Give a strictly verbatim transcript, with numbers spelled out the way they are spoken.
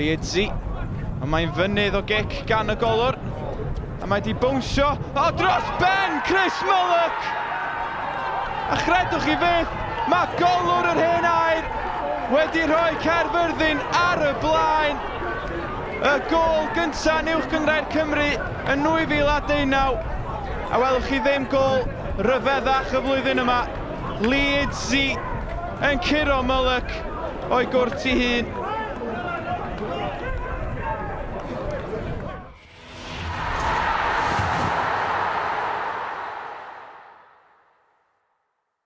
Liedzi. A mae'n fynydd o gic gan y golwr. A mae di bownsio. O, dros ben Chris Mullock! A chredwch chi fyth, mae golwr yr Hen Aur wedi rhoi Caerfyrddin ar y blaen. Y gôl gyntaf yn Uwch Gynghrair Cymru yn nwy fil a deunaw. A welwch chi ddim gôl ryfeddach y flwyddyn yma. Liedzi yn curo Mullock o'i gwrt ei hun.